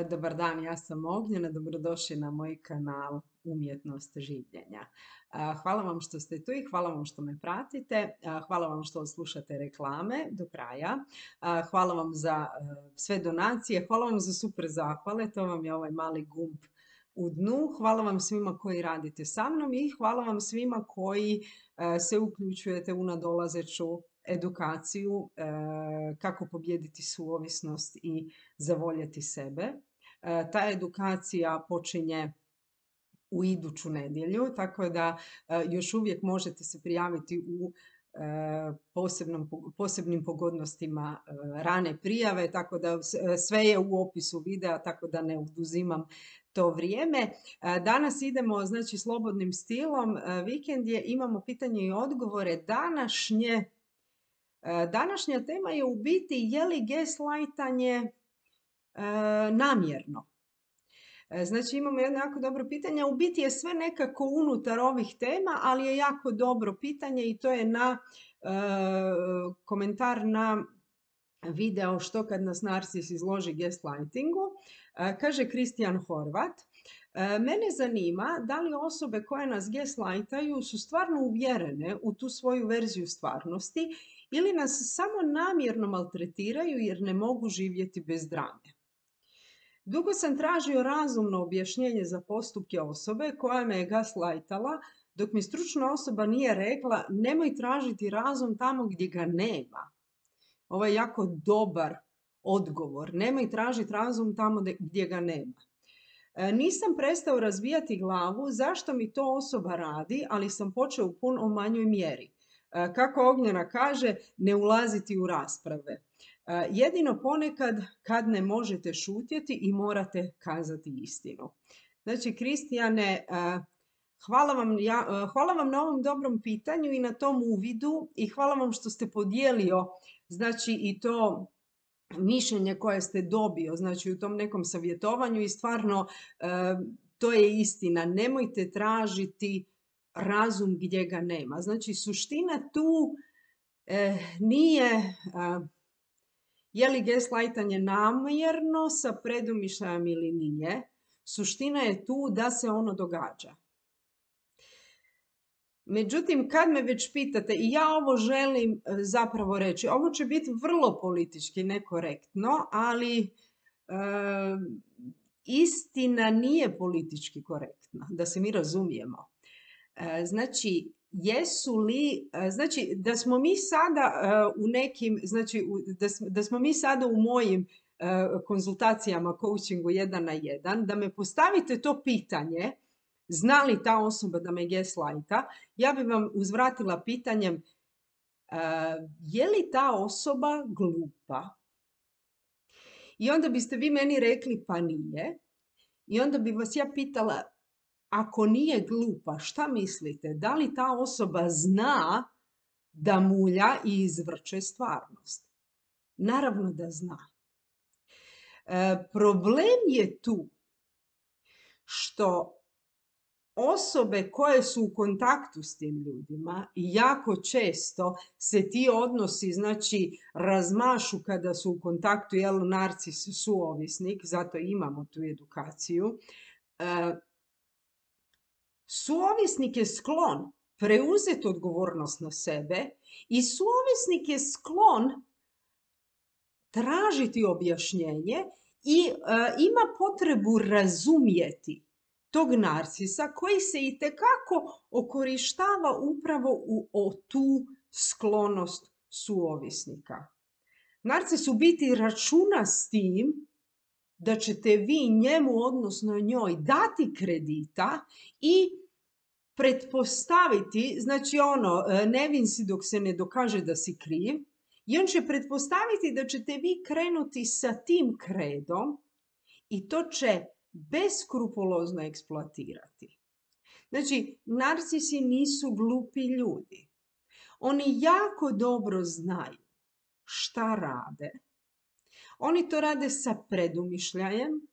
Dobar dan, ja sam Ognjena, dobrodošli na moj kanal Umjetnost življenja. Hvala vam što ste tu i hvala vam što me pratite, hvala vam što slušate reklame do kraja, hvala vam za sve donacije, hvala vam za super zahvale, to vam je ovaj mali gumb u dnu, hvala vam svima koji radite sa mnom i hvala vam svima koji se uključujete u nadolazeću edukaciju kako pobijediti suovisnost i zavoljeti sebe. Ta edukacija počinje u iduću nedjelju, tako da još uvijek možete se prijaviti u posebnim pogodnostima rane prijave, tako da sve je u opisu videa, tako da ne oduzimam to vrijeme. Danas idemo znači slobodnim stilom, vikend je, imamo pitanje i odgovore. Današnja tema je u biti je li gaslightanje namjerno. Znači imamo jedno jako dobro pitanje, u biti je sve nekako unutar ovih tema, ali je jako dobro pitanje i to je na komentar na video Što kad nas narcis izloži gaslightingu. Kaže Kristijan Horvat, mene zanima da li osobe koje nas gaslightaju su stvarno uvjerene u tu svoju verziju stvarnosti ili nas samo namjerno maltretiraju jer ne mogu živjeti bez drame. Dugo sam tražio razumno objašnjenje za postupke osobe koja me je gaslightala, dok mi stručna osoba nije rekla nemoj tražiti razum tamo gdje ga nema. Ovo je jako dobar odgovor. Nemoj tražiti razum tamo gdje ga nema. Nisam prestao razbijati glavu zašto mi to osoba radi, ali sam počeo u puno manjoj mjeri. Kako Ognjena kaže, ne ulaziti u rasprave. Jedino ponekad kad ne možete šutjeti i morate kazati istinu. Znači, Kristijane, hvala vam na ovom dobrom pitanju i na tom uvidu i hvala vam što ste podijelio znači i to mišljenje koje ste dobio znači u tom nekom savjetovanju i stvarno to je istina. Nemojte tražiti razum gdje ga nema. Znači, suština tu nije je li gaslightanje namjerno sa predumišljajem ili nije. Suština je tu da se ono događa. Međutim, kad me već pitate, i ja ovo želim zapravo reći, ovo će biti vrlo politički nekorektno, ali istina nije politički korektna, da se mi razumijemo. Znači, da smo mi sada u nekim, znači da smo mi sada u mojim konzultacijama, coachingu 1 na 1, da me postavite to pitanje, zna li ta osoba da me gaslighta, ja bi vam uzvratila pitanjem je li ta osoba glupa? I onda biste vi meni rekli pa nije. I onda bi vas ja pitala, ako nije glupa, šta mislite? Da li ta osoba zna da mulja i izvrće stvarnost? Naravno da zna. Problem je tu što osobe koje su u kontaktu s tim ljudima i jako često se ti odnosi znači razmašu kada su u kontaktu, jel, narcis suovisnik, zato imamo tu edukaciju. Suovisnik je sklon preuzeti odgovornost na sebe i suovisnik je sklon tražiti objašnjenje i ima potrebu razumjeti tog narcisa koji se itekako okorištava upravo u tu sklonost suovisnika. Narcis u biti računa s tim da ćete vi njemu, odnosno njoj, dati kredita i pretpostaviti, znači nevin si dok se ne dokaže da si kriv, i on će pretpostaviti da ćete vi krenuti sa tim kredom i to će beskrupulozno eksploatirati. Znači, narcisi nisu glupi ljudi. Oni jako dobro znaju šta rade. Oni to rade sa predumišljajem.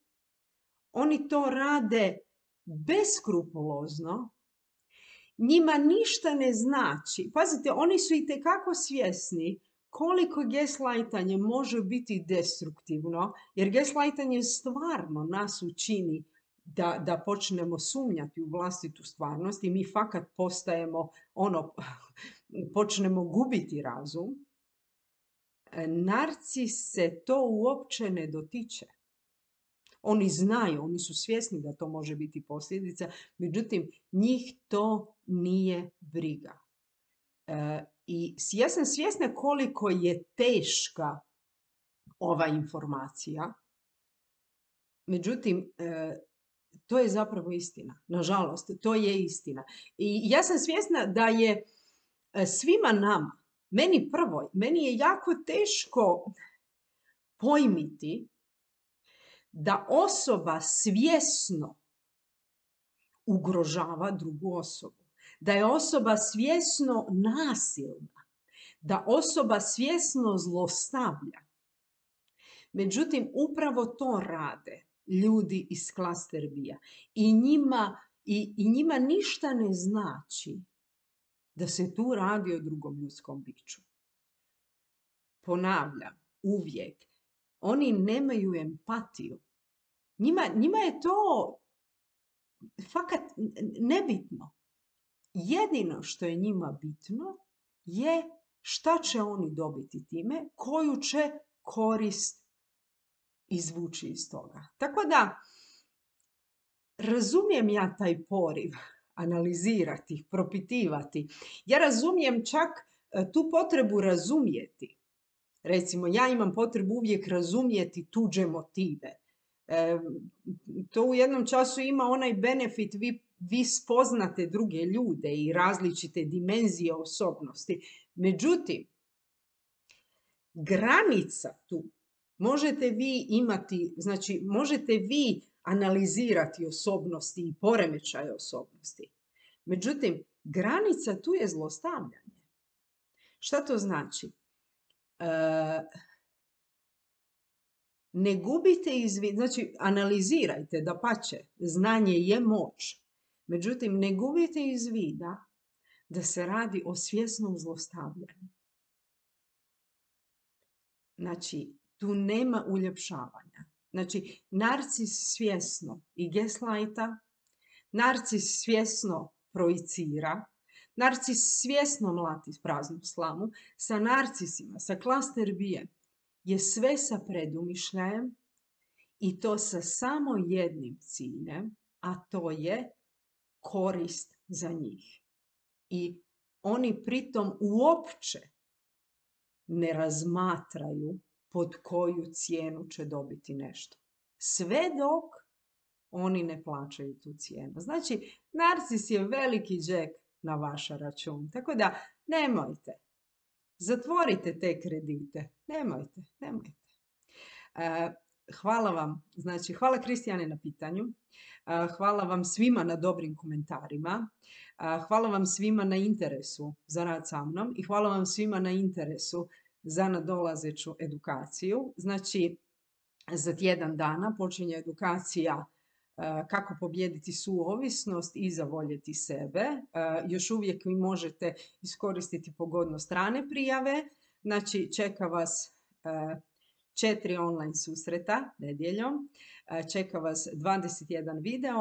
Oni to rade beskrupulozno. Njima ništa ne znači. Pazite, oni su itekako svjesni koliko gaslightanje može biti destruktivno, jer gaslightanje stvarno nas učini da počnemo sumnjati u vlastitu stvarnost i mi fakat postajemo počnemo gubiti razum. Narcis se to uopće ne dotiče. Oni znaju, oni su svjesni da to može biti posljedica, međutim, njih to nije briga. I ja sam svjesna koliko je teška ova informacija, međutim, to je zapravo istina. Nažalost, to je istina. I ja sam svjesna da je svima nama, meni je jako teško pojmiti da osoba svjesno ugrožava drugu osobu, da je osoba svjesno nasilna, da osoba svjesno zlostavlja. Međutim, upravo to rade ljudi iz klaster B-a. I njima ništa ne znači da se tu radi o drugom ljudskom biću. Ponavljam, uvijek, oni nemaju empatiju. Njima je to fakat nebitno. Jedino što je njima bitno je šta će oni dobiti time, koju će korist izvući iz toga. Tako da, razumijem ja taj poriv analizirati, propitivati. Ja razumijem čak tu potrebu razumjeti. Recimo, ja imam potrebu uvijek razumjeti tuđe motive. To u jednom času ima onaj benefit, vi spoznate druge ljude i različite dimenzije osobnosti. Međutim, granica tu možete vi imati, znači možete vi analizirati osobnosti i poremećaje osobnosti. Međutim, granica tu je zlostavljanje. Šta to znači? Ne gubite iz vida, znači analizirajte, dapače, znanje je moć. Međutim, ne gubite iz vida da se radi o svjesnom zlostavljanju. Znači, tu nema uljepšavanja. Znači, narcis svjesno i gaslighta, narcis svjesno projicira, narcis svjesno mlati praznu slamu, sa narcisima, sa klaster B je sve sa predumišljajem i to sa samo jednim ciljem, a to je korist za njih. I oni pritom uopće ne razmatraju pod koju cijenu će dobiti nešto. Sve dok oni ne plaćaju tu cijenu. Znači, narcis je veliki džek na vaš račun. Tako da, nemojte. Zatvorite te kredite. Nemojte. Hvala vam. Znači, hvala Kristijane na pitanju. Hvala vam svima na dobrim komentarima. Hvala vam svima na interesu za rad sa mnom i hvala vam svima na interesu za nadolazeću edukaciju. Znači, za tjedan dana počinje edukacija kako pobijediti suovisnost i zavoljeti sebe. Još uvijek vi možete iskoristiti pogodnost strane prijave. Znači, čeka vas 4 online susreta nedjeljom. Čeka vas 21 video,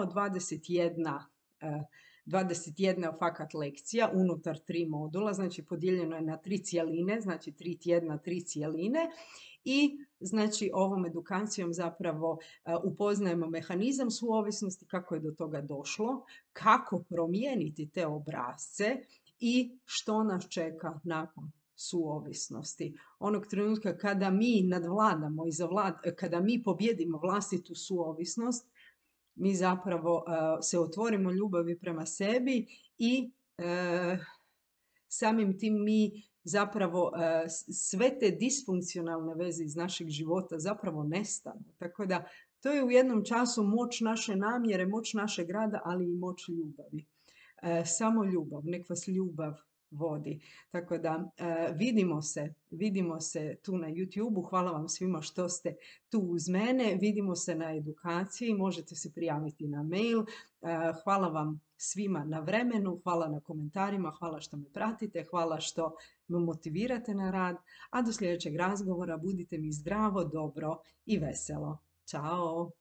21 fakat lekcija unutar 3 modula, znači podijeljeno je na 3 cjeline, znači 3 tjedna, 3 cjeline i znači ovom edukacijom zapravo upoznajemo mehanizam suovisnosti, kako je do toga došlo, kako promijeniti te obrasce i što nas čeka nakon suovisnosti. Onog trenutka kada mi nadvladamo i kada mi pobjedimo vlastitu suovisnost, mi zapravo se otvorimo ljubavi prema sebi i samim tim mi zapravo sve te disfunkcionalne veze iz našeg života zapravo nestanu. Tako da to je u jednom času moć naše namjere, moć našeg rada, ali i moć ljubavi. Samo ljubav, nek vas ljubav vodi. Tako da vidimo se tu na YouTube-u. Hvala vam svima što ste tu uz mene. Vidimo se na edukaciji. Možete se prijaviti na mail. Hvala vam svima na vremenu. Hvala na komentarima. Hvala što me pratite. Hvala što me motivirate na rad, a do sljedećeg razgovora budite mi zdravo, dobro i veselo. Ćao!